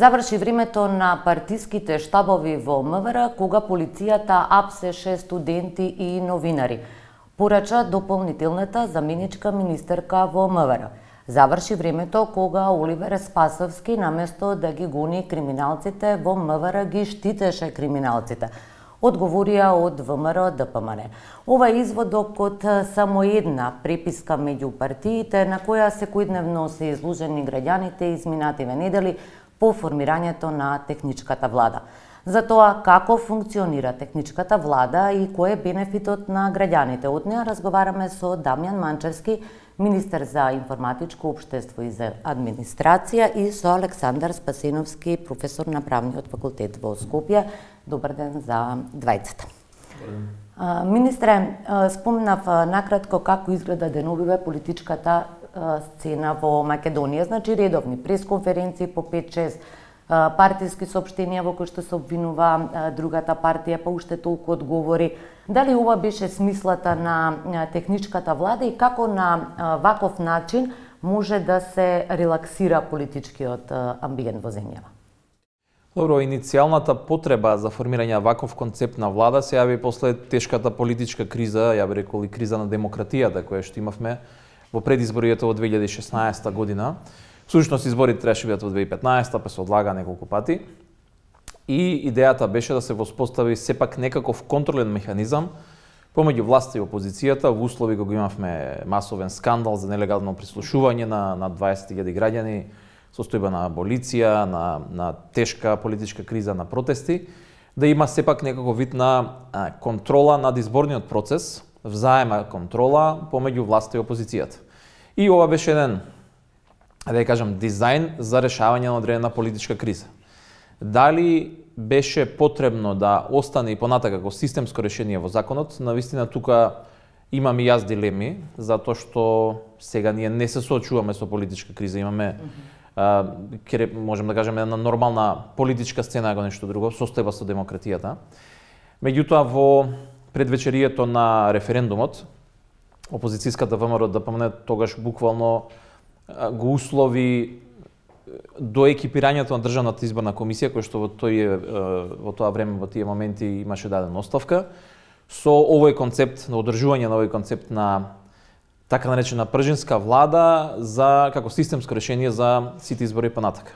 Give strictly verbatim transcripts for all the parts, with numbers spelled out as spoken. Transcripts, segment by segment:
Заврши времето на партиските штабови во МВР, кога полицијата апсеше студенти и новинари, порача дополнителната заменичка министерка во МВР. Заврши времето кога Оливер Спасовски, наместо да ги гони криминалците во МВР, ги штитеше криминалците, одговорија од ВМРО Д П М Н. Ова е изводок од само една преписка меѓу партиите, на која секојдневно се изложени граѓаните изминативе недели по формирањето на техничката влада. За тоа како функционира техничката влада и кој е бенефитот на граѓаните. Од неа разговараме со Дамјан Манчевски, министер за информатичко општество и за администрација, и со Александар Спасиновски, професор на правниот факултет во Скопје. Добар ден за двајцата. Министре, спомнав накратко како изгледа деновиве политичката сцена во Македонија. Значи редовни пресконференции по пет-шест партиски соопштенија во кои што се обвинува другата партија, па уште толку одговори. Дали ова беше смислата на техничката влада и како на ваков начин може да се релаксира политичкиот амбиент во земјава? Добро, иницијалната потреба за формирање на ваков концепт на влада се јави после тешката политичка криза, ја би рекол и криза на демократијата која што имавме во предизборието во две илјади и шеснаесета година. Всушност изборите требаше бидат во две илјади и петнаесета, па се одлага неколку пати. И идејата беше да се воспостави сепак некаков контролен механизам помеѓу власта и опозицијата во услови кога имавме масовен скандал за нелегално прислушување на на дваесет илјади граѓани, состојба на аболиција, на на тешка политичка криза, на протести, да има сепак некаков вид на а, контрола над изборниот процес, взаема контрола помеѓу власта и опозицијата. И ова беше еден, да ја кажам, дизајн за решавање на одредена политичка криза. Дали беше потребно да остане и понатака како системско решение во законот, навистина тука имам и јас дилеми, затоа што сега ние не се соочуваме со политичка криза, имаме а, ке, можем да кажеме една нормална политичка сцена, ако нешто друго, состојба со демократијата. Меѓутоа во предвечерието на референдумот, опозицијската ВМРО Д П М Н тогаш буквално го услови до екипирањето на Државната изборна комисија, која што во тој во тоа време, во тие моменти имаше дадена оставка, со овој концепт на одржување на овој концепт на така наречена пржинска влада за како системско решение за сите избори понатака.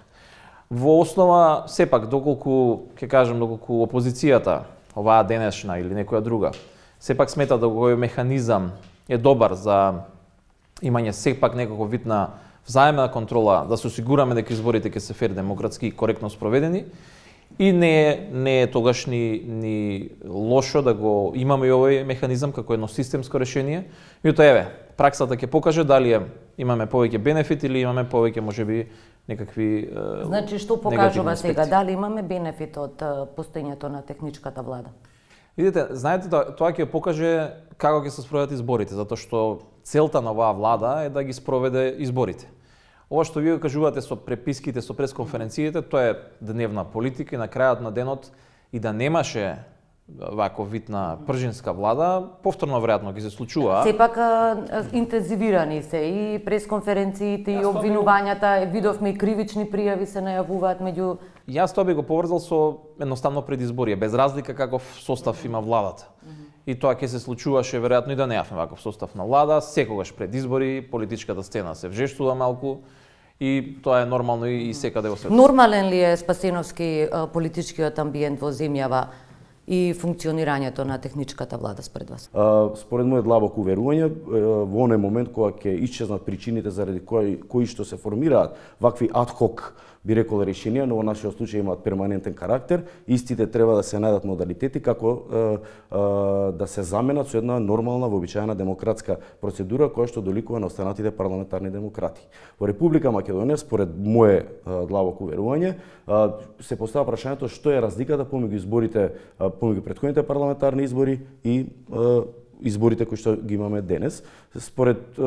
Во основа сепак доколку ќе кажам доколку опозицијата, оваа денешна или некоја друга, сепак смета да овој механизам е добар за имање сепак некаков вид на взаемна контрола, да се осигураме дека изборите ќе се фер, демократски и коректно спроведени, и не е, не е тогаш ни, ни лошо да го имаме и овој механизам како едно системско решение. Меѓутоа еве, праксата ќе покаже дали е, имаме повеќе бенефит или имаме повеќе можеби некакви е, Значи што покажува сега, дали имаме бенефит од постоењето на техничката влада? Видите, знаете, тоа, тоа ќе покаже како ќе се спроведат изборите, затоа што целта на оваа влада е да ги спроведе изборите. Ова што вие кажувате со преписките, со пресконференциите, тоа е дневна политика и на крајот на денот и да немаше ваков вид на пржинска влада, повторно веројатно ќе се случува. Сепак интензивирани се и пресконференциите и обвинувањата, видовме и кривични пријави се најавуваат меѓу... Јас тоа би го поврзал со едноставно предизборие, без разлика каков состав има владата. И тоа ќе се случуваше веројатно и да неавме ваков состав на влада, секогаш пред избори, политичката сцена се вжештува малку и тоа е нормално и секаде во светот. Нормален ли е, Спасиновски, политичкиот амбиент во земјава и функционирањето на техничката влада според вас? А, според мојот длабоко уверување, во оној момент кога ќе исчезнат причините заради кои, кои што се формираат вакви адхок, би рекол, решенија, но во нашиот случај имаат перманентен карактер, истите треба да се најдат модалитети како е, е, да се заменат со една нормална, вообичаена демократска процедура која што доликува на останатите парламентарни демократи. Во Република Македонија, според мое длабоко уверување, се постава прашањето што е разликата помеѓу изборите, помеѓу претходните парламентарни избори и изборите кои што ги имаме денес. Според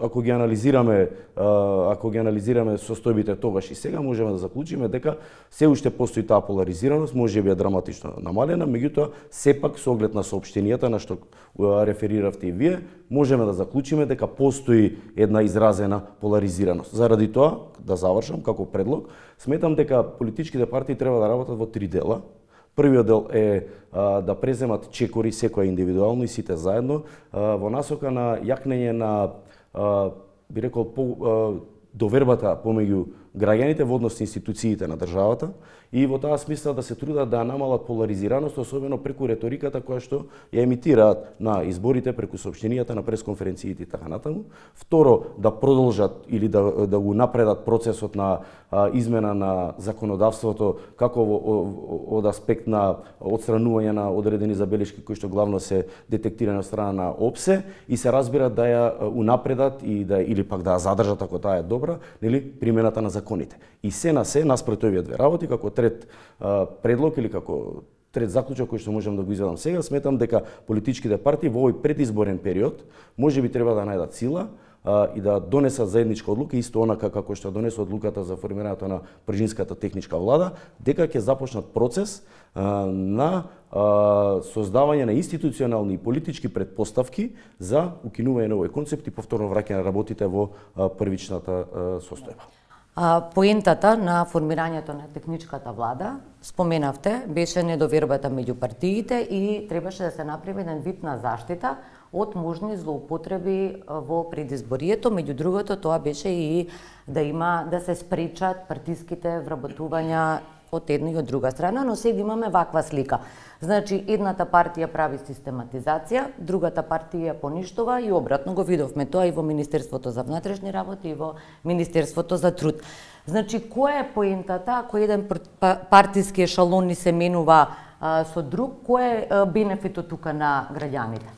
ако ги анализираме, ако ги анализираме состојбите тогаш и сега, можеме да заклучиме дека се уште постои таа поларизираност, можеби е драматично намалена, меѓутоа сепак со оглед на соопштенијата на што рефериравте и вие, можеме да заклучиме дека постои една изразена поларизираност. Заради тоа, да завршам како предлог, сметам дека политичките партии треба да работат во три дела. Првиот дел е а, да преземат чекори секоја индивидуално и сите заедно а, во насока на јакнење на а, би рекол по, а, довербата помеѓу граѓаните во однос на институциите на државата и во таа смисла да се трудат да намалат поларизираност, особено преку реториката која што ја емитираат на изборите, преку соопштенијата на пресконференциите и така натаму. Второ, да продолжат или да, да го напредат процесот на а, измена на законодавството, како во, од аспект на отстранување на одредени забелешки кои што главно се детектирани од страна на ОПСЕ и се разбира да ја унапредат и да или пак да ја задржат ако таа е добра, нели, примената на законите. И се на се наспрот овие две работи, како трет а, предлог или како трет заклучок кој што можам да го изведам сега, сметам дека политичките партии во овој предизборен период можеби треба да најдат сила а, и да донесат заедничка одлука, исто онака како што донесува одлуката за формирањето на пржинската техничка влада, дека ќе започнат процес а, на а, создавање на институционални и политички предпоставки за укинување на овој концепт и повторно враќање на работите во а, првичната а, состојба. Поентата на формирањето на техничката влада, споменавте, беше недовербата меѓу партиите и требаше да се направи еден вид на заштита од можни злоупотреби во предизборието. Меѓу другото, тоа беше и да има да се спречат партиските вработувања од една и од друга страна, но сега имаме ваква слика. Значи, едната партија прави систематизација, другата партија ја поништува и обратно го видовме тоа и во Министерството за внатрешни работи и во Министерството за труд. Значи, која е поентата ако еден партиски ешалон ни се менува а, со друг, кој е а, бенефитот тука на граѓаните?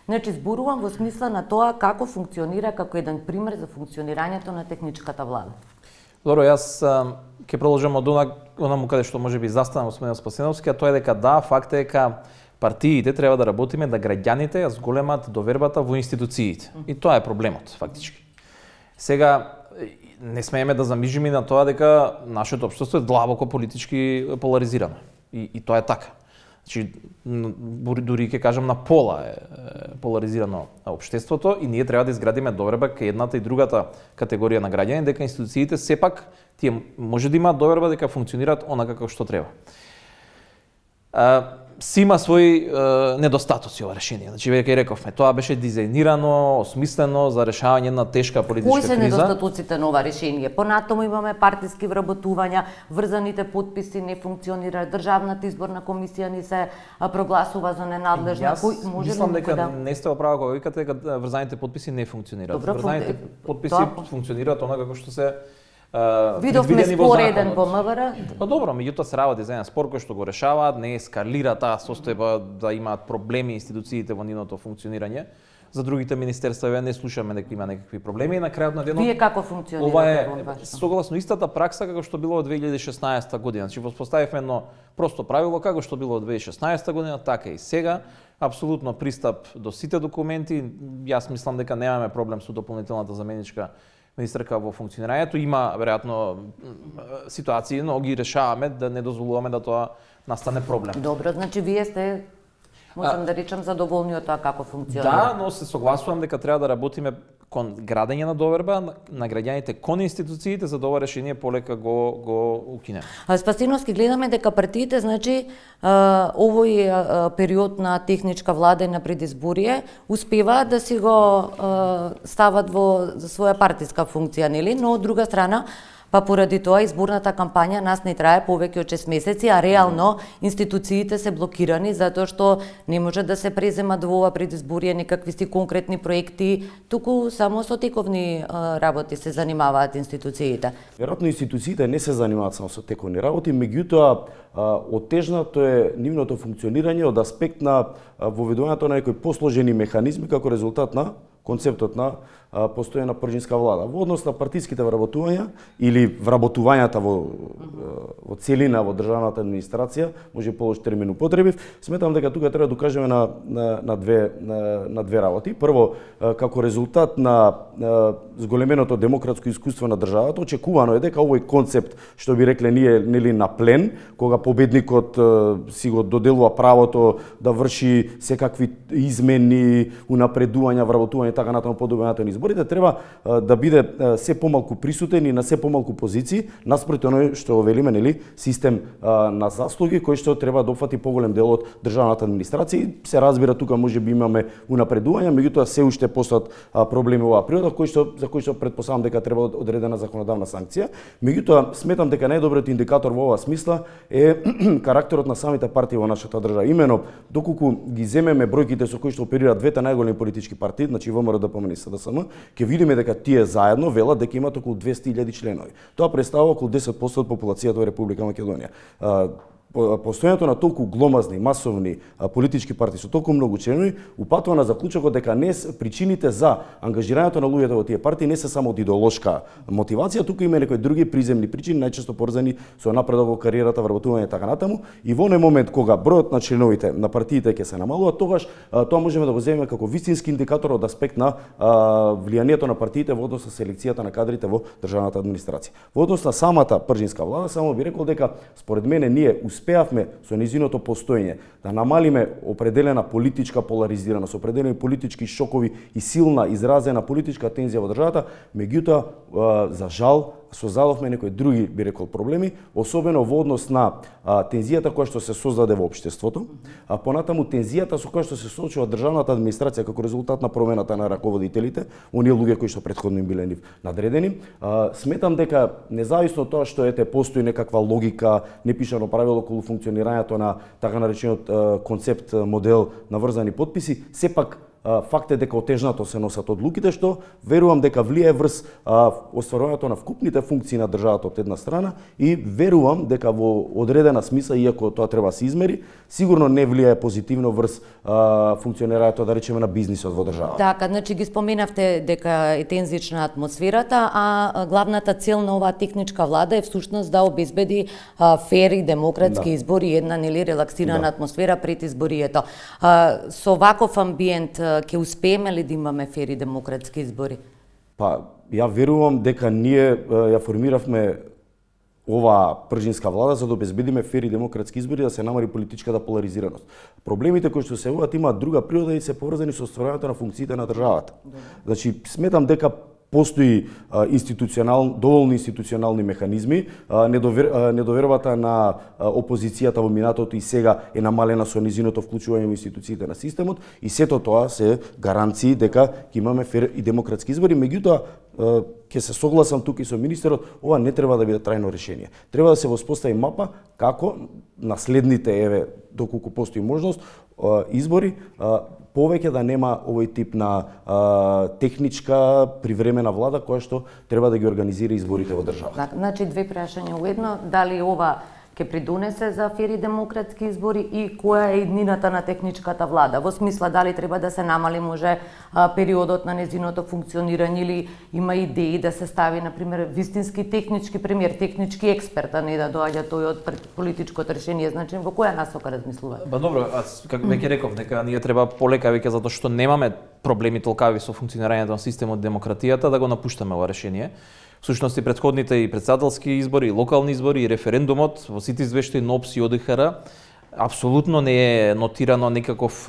Значи, зборувам во смисла на тоа како функционира како еден пример за функционирањето на техничката влада. Добро, јас ќе продолжам од онаму каде што можеби застанам господин Спасеновски, а тоа е дека да, факт е дека партиите треба да работиме да граѓаните ја зголемат довербата во институциите. И тоа е проблемот, фактички. Сега, не смееме да замижиме на тоа дека нашето општество е длабоко политички поларизирано. И, и тоа е така. Значи, дури ќе кажам на пола е поларизирано општеството и ние треба да изградиме доверба кај едната и другата категорија на граѓани, дека институциите сепак тие може да имаат доверба дека функционираат онака како што треба. Си има своји е, недостатоци ова решение. Значи, веќе рековме, тоа беше дизајнирано, осмислено за решавање на тешка политичка криза. Кои се недостатоците на ова решение? Понатаму имаме партиски вработувања, врзаните подписи не функционираат, државната изборна комисија ни се прогласува за ненадлежна. Јас Кој, може мислам дека да... не сте оправа кога викате дека врзаните подписи не функционираат. Добро, врзаните подписи тоа... функционираат онака како што се видовме спореден во МВР. Па добро, меѓутоа се работи за еден спор кој што го решаваат, не ескалира таа состојба да имаат проблеми институциите во нивното функционирање. За другите министерства не слушаме дека има некакви проблеми и на крајот на денот. Вие како функционирате? Ова е согласно истата пракса како што било во две илјади и шеснаесета година. Значи воспоставивме едно просто правило како што било во две илјади и шеснаесета година, така и сега. Апсолутно пристап до сите документи. Јас мислам дека немаме проблем со дополнителната заменичка министерка во функционирањето. Има веројатно ситуации, но ги решаваме да не дозволуваме да тоа настане проблем. Добро, значи вие сте, можам а, да речам, задоволни од тоа како функционира. Да, но се согласувам дека треба да работиме кон градење на доверба на граѓаните кон институциите за да ова решение полека го го укинеме. А Спасиновски, гледаме дека партиите, значи овој период на техничка влада и на предизборие успеваат да си го стават во своја партиска функција, нели? Но од друга страна, па поради тоа изборната кампања нас не трае повеќе од шест месеци, а реално институциите се блокирани затоа што не може да се преземат во ова предизборие некакви си конкретни проекти, туку само со тековни работи се занимаваат институциите. Веројатно институциите не се занимаваат само со тековни работи, меѓутоа оттежнато е нивното функционирање од аспект на воведувањето на некои посложени механизми како резултат на концептот на постојана пржинска влада. Во однос на партиските вработувања или вработувањата во, во целина во државната администрација, може полош термин употребив, сметам дека тука треба да докажеме на, на, на, две, на, на две работи. Прво, како резултат на зголеменото демократско искуство на државата, очекувано е дека овој концепт, што би рекле ние, нели на плен, кога победникот си го доделува правото да врши секакви измени, унапредувања, вработување така натаму по добивањето на изборите, треба да биде се помалку присутен и на се помалку позиции, наспроти оној што велиме, нели, систем на заслуги кој што треба да опфати поголем дел од државната администрација. Се разбира, тука може би имаме унапредувања, меѓутоа се уште постојат проблеми во оваа природа, кои што за кои што претпоставам дека треба одредена законодавна санкција. Меѓутоа сметам дека најдобриот индикатор во оваа смисла е карактерот на самите партии во нашата држава. Имено доколку ги земеме бројките со кои што оперираат двете најголеми политички партии, значи ВМРО, ДПМН и СДСМ, ќе видиме дека тие заедно велат дека имаат околу двесте илјади членови. Тоа представува околу десет проценти од популацијата во Република Македонија. Постојањето на толку гломазни, масовни политички партии со толку многу членови упатува на заклучокот дека не причините за ангажирањето на луѓето во тие партии не се само од идеолошка мотивација, туку има некои други приземни причини, најчесто поврзани со напредок во кариерата, вработување и така натаму. И во оној момент кога бројот на членовите на партиите ќе се намалува, тогаш тоа можеме да го земеме како вистински индикатор од аспект на влијанието на партиите во однос на селекцијата на кадрите во државната администрација. Во однос на самата пржинска влада, само би рекол дека според мене ние успеавме со низиното постоење да намалиме определена политичка поларизираност, определени политички шокови и силна изразена политичка тензија во државата, меѓутоа за жал создадовме некои други, би рекол, проблеми, особено во однос на а, тензијата која што се создаде во општеството, а понатаму тензијата со која што се соочува државната администрација како резултат на промената на раководителите, оние луѓе кои што претходно им биле нив надредени. А, сметам дека независно од тоа што ете постои некаква логика, непишано правило околу функционирањето на така наречениот а, концепт модел на врзани подписи, сепак факт е дека отежнато се носат одлуките, што верувам дека влијае врз остварувањето на вкупните функции на државата од една страна и верувам дека во одредена смисла, иако тоа треба да се измери, сигурно не влијае позитивно врз а, функционирањето, да речеме, на бизнисот во државата. Така, значи ги споменавте дека е тензична атмосферата, а главната цел на оваа техничка влада е всушност да обезбеди а, фери, демократски да. избори и една нели релаксирана да. атмосфера пред изборието. А, со ваков амбиент ќе успееме ли да имаме фери демократски избори? Па, ја верувам дека ние ја формиравме оваа пржинска влада за да обезбедиме фери демократски избори, да се намали политичката поларизираност. Проблемите кои што се јавуваат имаат друга природа и се поврзани со остварувањето на функциите на државата. Значи, сметам дека постои а, институционал, доволно институционални механизми, а, недовер, а, недовербата на а, опозицијата во минатото и сега е намалена со низиното вклучување во институциите на системот и сето тоа се гаранции дека ќе имаме фер и демократски избори, меѓутоа ќе се согласам тука и со министерот, ова не треба да биде трајно решение. Треба да се воспостави мапа како наследните, еве, доколку постои можност, избори, повеќе да нема овој тип на а, техничка привремена влада која што треба да ги организира изборите во државата. Так, значи две прашања во едно, дали ова ќе придонесе за фери демократски избори и која е иднината на техничката влада? Во смисла дали треба да се намали може а, периодот на незиното функционирање или има идеи да се стави на пример вистински технички премиер, технички експерт, а не да доаѓа тој од политичкото решение. Значи во која насока размислувате? Ба добро, аз како веќе реков дека ние треба полека веќе затоа што немаме проблеми толкави со функционирањето на системот демократијата да го напуштаме ова решение. Всушност и претходните и председателски избори, и локални избори, и референдумот во сите извештаи на ОПС и ОДХР апсолутно не е нотирано никаков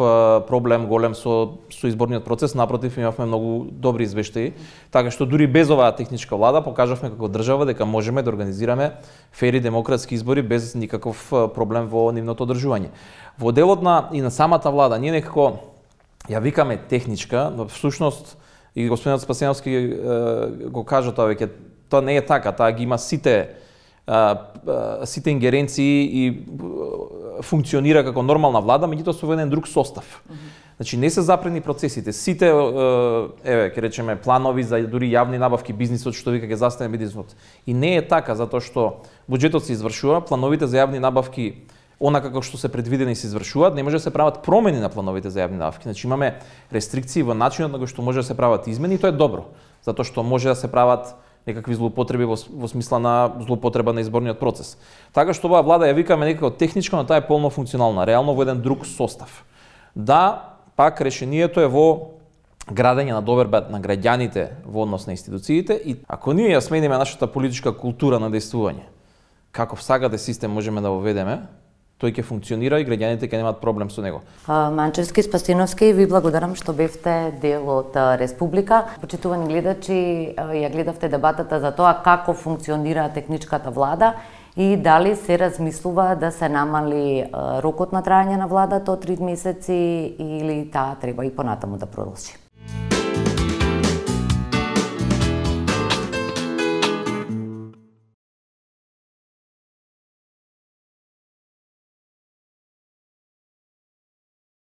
проблем голем со со изборниот процес, напротив имавме многу добри извештаи, така што дури без оваа техничка влада покажавме како држава дека можеме да организираме фери демократски избори без никаков проблем во нивното одржување. Во делот на и на самата влада ние некако ја викаме техничка, но всушност и господинот Спасеновски го кажа тоа веќе, тоа не е така, таа ги има сите сите ингеренции и функционира како нормална влада, меѓутоа со еден друг состав. Mm-hmm. Значи не се запрени процесите, сите еве ќе речеме планови за дури јавни набавки, бизнисот што вика ќе застане бизнисот. И не е така затоа што буџетот се извршува, плановите за јавни набавки онака како што се предвидени и се извршуваат, не може да се прават промени на плановите за јавни набавки. Значи имаме рестрикции во начинот на кој што може да се прават измени и тоа е добро, затоа што може да се прават некакви злоупотреби во, во смисла на злоупотреба на изборниот процес. Така што оваа влада ја викаме некако техничко, но таа е полно функционална, реално во еден друг состав. Да, пак решението е во градење на доверба на граѓаните во однос на институциите и ако ние ја смениме нашата политичка култура на действување, каков сакате систем можеме да воведеме, тој ќе функционира и граѓаните ќе немаат проблем со него. Манчевски, Спасиновски, ви благодарам што бевте дел од Республика. Почитувани гледачи, ја гледавте дебатата за тоа како функционира техничката влада и дали се размислува да се намали рокот на трајање на владата од три месеци или таа треба и понатаму да продолжи.